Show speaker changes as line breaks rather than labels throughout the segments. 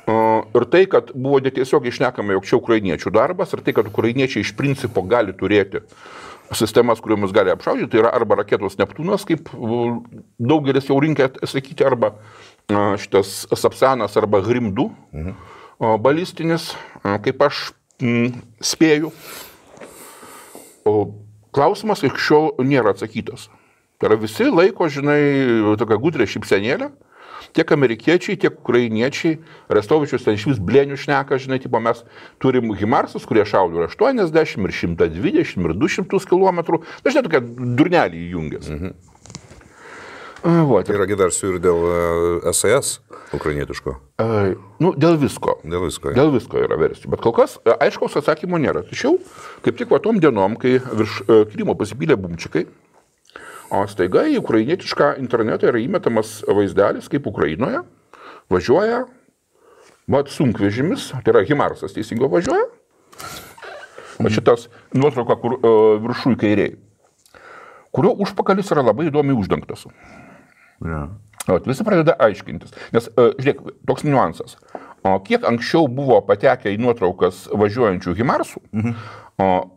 Ir tai, kad buvo tiesiog išnekama, jog čia ukrainiečių darbas, ir tai, kad ukrainiečiai iš principo gali turėti sistemas, kuriomis gali apšaudyti, tai yra arba raketos Neptūnas, kaip daugelis jau rinkia sakyti, arba šitas Sapsanas, arba Grim 2 balistinis, kaip aš spėju. O klausimas iki šiol nėra atsakytas. Tai yra visi laiko, žinai, tokia gudrė šypsenėlė, tiek amerikiečiai, tiek ukrainiečiai, Arestovičius ten iš vis blėnių šneka, žinai, tipo mes turim Himarsus, kurie šaudo ir 80, ir 120, ir 200 km, dažnai tokia durnelį įjungęs.
Tai yra gidarsiu ir dėl SAS ukrainietiško?
Dėl visko.
Dėl visko.
Dėl visko yra versijų. Bet kol kas aiškaus atsakymo nėra. Tačiau, kaip tik tom dienom, kai virš Krymo pasipylė bumčikai, o staiga į ukrainietišką internetą yra įmetamas vaizdelis, kaip Ukrainoje važiuoja sunkvežimis, tai yra Himarsas teisingo važiuoja, o šitas nuotrauka, kur viršų į kairiai, kurio užpakalis yra labai įdomiai uždengtas. Visi pradeda aiškintis, nes, žiūrėk, toks niuansas. Kiek anksčiau buvo patekę į nuotraukas važiuojančių Himarsų,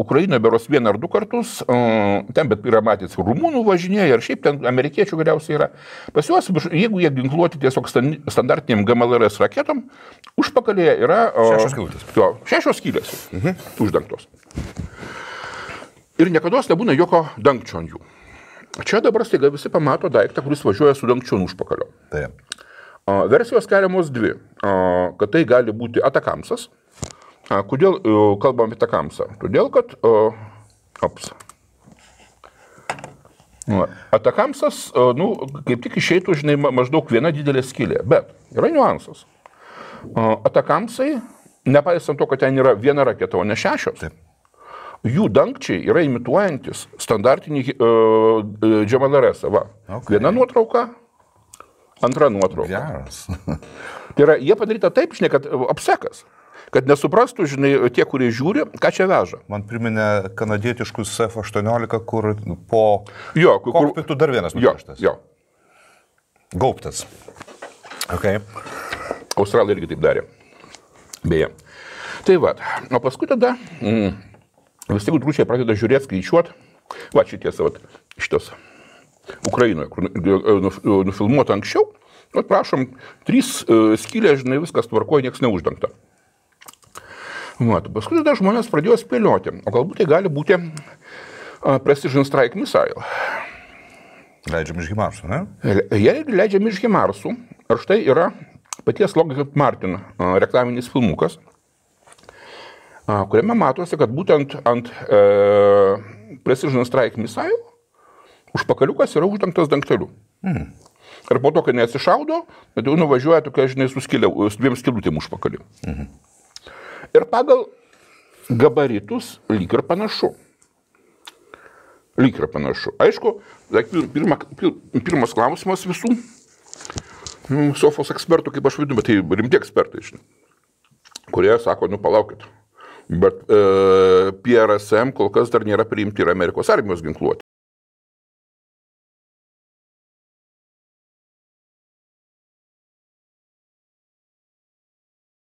Ukrainoje beros 1 ar 2 kartus, ten bet yra matęs rumunų važinėja ir šiaip ten amerikiečių galiausiai yra. Pas juos, jeigu jie ginkluoti tiesiog standartiniam GMLRS raketom, užpakalėje yra
6 skylės.
6 skylės uždengtos. Ir niekados nebūna jokio dangčio ant jų. Čia dabar staiga visi pamato daiktą, kuris važiuoja su dangčiu ant užpakalio.
Taip.
Versijos keliamos dvi, kad tai gali būti Atakamsas. Kodėl kalbam apie Atakamsą? Todėl, kad Atakamsas, kaip tik išeitų, žinai, maždaug viena didelė skylė, bet yra niuansas. Atakamsai, nepaisant to, kad ten yra viena raketa, o ne 6, jų dangčiai yra imituojantis standartinį GMLRS. Viena nuotrauka, antra nuotrauka.
Geras.
Tai yra, jie padaryta taip, žinai, kad apsekas, kad nesuprastų, žinai, tie, kurie žiūri, ką čia veža.
Man priminė kanadietiškus F-18, kur po kokpitų dar vienas nupieštas.
Jo.
Gaubtas. Okay.
Australai irgi taip darė. Beje. Tai va, o paskui tada visi gudručiai pradeda žiūrėti, skaičiuoti. Va, šitas Ukrainoje, kur nufilmuota anksčiau. Prašom, 3 skylės, žinai, viskas tvarkoja, niekas neuždengta. Paskui tada žmonės pradėjo spėlioti, o galbūt tai gali būti Precision Strike Missile.
Leidžiam iš Himarsų, ne?
Jie leidžiam iš Himarsų. Ir štai yra paties Lockheed Martin reklaminis filmukas, kuriame matosi, kad būtent ant Precision Strike Missile užpakaliukas yra uždengtas dangteliu. Ir po to, kai neatsišaudo, tai nuvažiuoja tokia, žinai, su 2 skylutėm užpakaliu. Ir pagal gabaritus lyg ir panašu. Aišku, pirmas klausimas visų sofos ekspertų, kaip aš vadinu, bet tai rimti ekspertai, žinai, kurie sako, palaukit, bet PRSM kol kas dar nėra priimti ir Amerikos armijos ginkluoti.